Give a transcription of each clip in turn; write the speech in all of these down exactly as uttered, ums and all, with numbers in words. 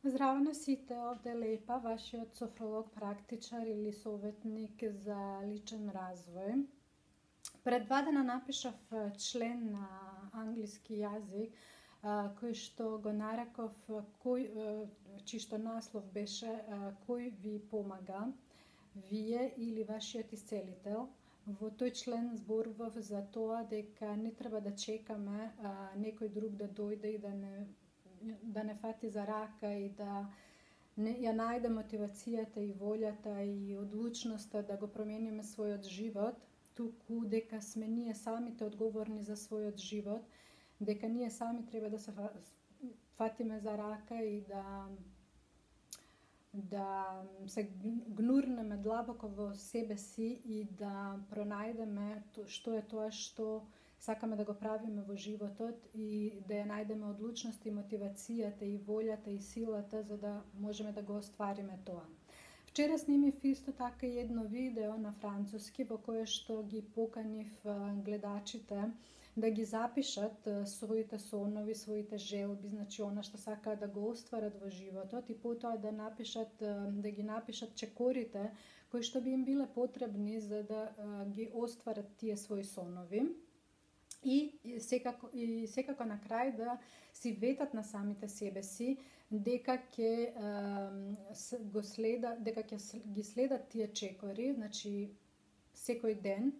Здраво на сите, овде е Лепа, вашиот софролог, практичар или советник за личен развој. Пред два дена напишав член на англиски јазик, кој што го нареков, кој, чишто наслов беше кој ви помага, вие или вашиот исцелител. Во тој член зборував за тоа дека не треба да чекаме а, некој друг да дојде и да не да не фати за рака и да не, ја најде мотивацијата и волјата и одлучноста да го промениме својот живот, туку дека сме ние самите одговорни за својот живот, дека ние сами треба да се фатиме за рака и да да се гнурнеме длабоко во себе си и да пронајдеме што е тоа што сакаме да го правиме во животот и да ја најдеме одлучност и мотивацијата и волјата и силата за да можеме да го оствариме тоа. Вчера снимив исто така едно видео на француски во кое што ги поканив гледачите да ги запишат своите сонови, своите желби, значи она што сакаат да го остварат во животот и потоа да напишат да ги напишат чекорите кои што би им биле потребни за да ги остварат тие своји сонови. И секако, и секако на крај да си ветат на самите себе си дека ќе го следа, дека ќе ги следат тие чекори, значи секој ден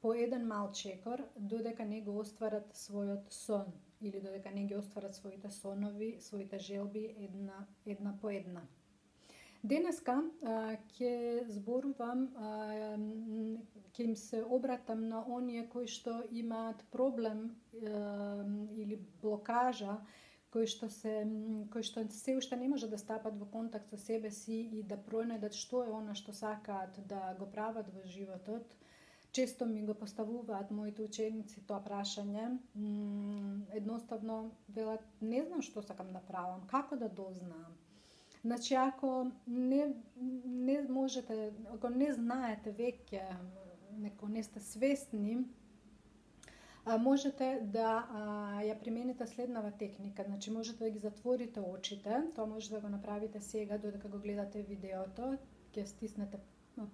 по еден мал чекор додека не го остварат својот сон или додека не ги остварат своите сонови, своите желби една една по една. Денеска ќе зборувам, ќе им се обратам на оние кои што имаат проблем или блокажа, кои што се кои што се уште не може да стапат во контакт со себе си и да пронајдат што е она што сакаат да го прават во животот. Често ми го поставуваат моите ученици тоа прашање. Едноставно велат, не знам што сакам да правам, како да дознаам. Значи, ако не, не можете, ако не знаете веќе, неко не сте свесни, можете да а, ја примените следнава техника. Значи, можете да ги затворите очите, тоа може да го направите сега, додека го гледате видеото, ќе стиснете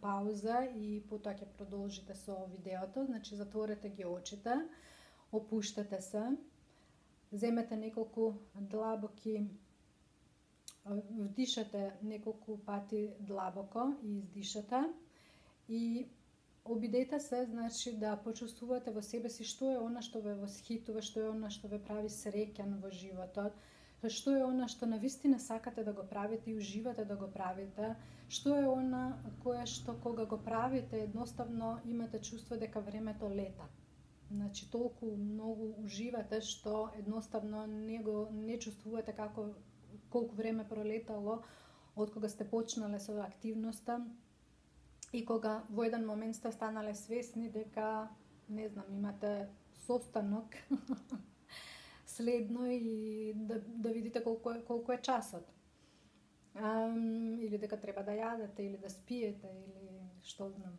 пауза и потоа ќе продолжите со видеото. Значи, затворете ги очите, опуштете се, земете неколку длабоки, вдишате неколку пати длабоко и издишате и обидете се, значи, да почувствувате во себе си што е она што ве восхитува, што е она што ве прави среќен во животот, што е она што навистина сакате да го правите и уживате да го правите, што е она кое што кога го правите едноставно имате чувство дека времето лета. Значи, толку многу уживате што едноставно не го не чувствувате како колку време пролетало од кога сте почнале со активноста и кога во еден момент сте станале свесни дека, не знам, имате состанок следно и да, да видите колку е, колку е часот. Um, или дека треба да јадете, или да спиете, или што знам.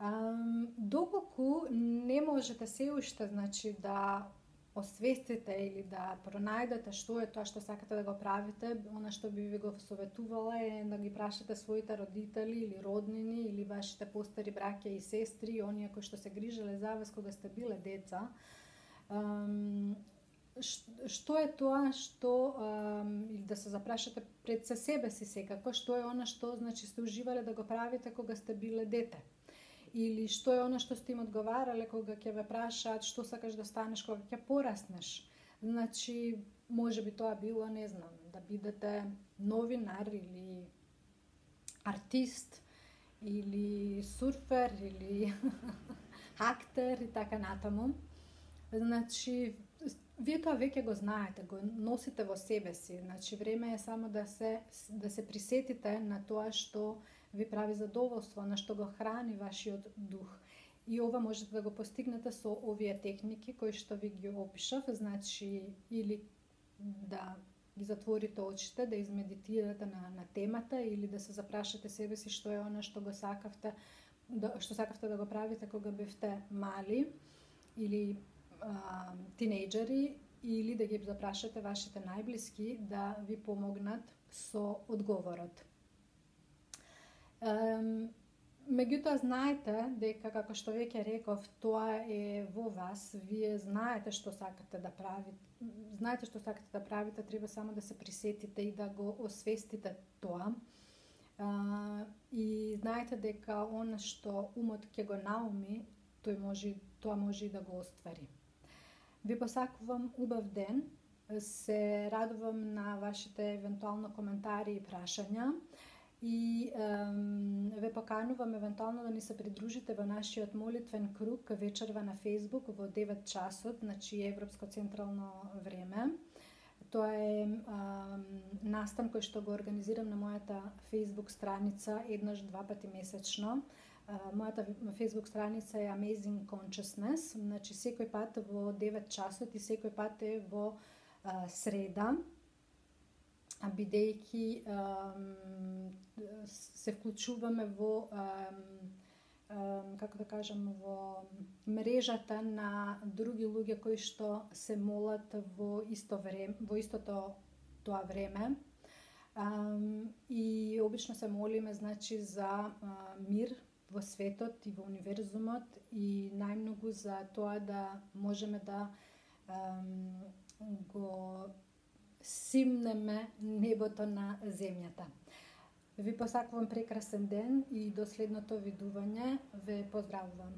Um, доколку не можете се уште, значи, да освестите или да пронајдете што е тоа што сакате да го правите, она што би ви го советувала е да ги прашате своите родители или роднини или вашите постари браќа и сестри, оние кои што се грижеле за вас кога сте биле деца. Um, што е тоа што, um, или да се запрашате пред се себе си секако, што е она што, значи, сте уживале да го правите кога сте биле дете. Или што е она што сте им одговарале кога ќе ве прашаат што сакаш да станеш кога ќе пораснеш. Значи, може би тоа било, не знам, да бидете новинар или артист или сурфер или актер и така натаму. Значи, вие тоа веќе го знаете, го носите во себе си. Значи, време е само да се да се присетите на тоа што ви прави задоволство, на што го храни вашиот дух. И ова можете да го постигнете со овие техники кои што ви ги опишав, значи или да ги затворите очите, да измедитирате на, на темата или да се запрашате себе си што е она што го сакавте, да, што сакавте да го правите кога бевте мали или а, тинејџери или да ги запрашате вашите најблиски да ви помогнат со одговорот. Um, Меѓутоа, знаете дека, како што веќе реков, тоа е во вас, вие знаете што сакате да правите, знаете што сакате да правите, треба само да се присетите и да го освестите тоа. А, и знаете дека она што умот ќе го науми, тој може, тоа може и да го оствари. Ви посакувам убав ден, се радувам на вашите евентуално коментари и прашања. И ем, ве поканувам евентуално да ни се придружите во нашиот молитвен круг вечерва на Facebook во девет часот, значи Европско централно време. Тоа е ем, настан кој што го организирам на мојата Facebook страница еднаш два пати месечно. Мојата Facebook страница е Amazing Consciousness, значи секој пат во девет часот и секој пат е во а, среда, бидејќи се вклучуваме во, како да кажам, во мрежата на други луѓе кои што се молат во исто време, во истото тоа време. И обично се молиме, значи, за мир во светот и во универзумот и најмногу за тоа да можеме да го симнеме небото на земјата. Ви посакувам прекрасен ден и до следното видување. Ве поздравувам.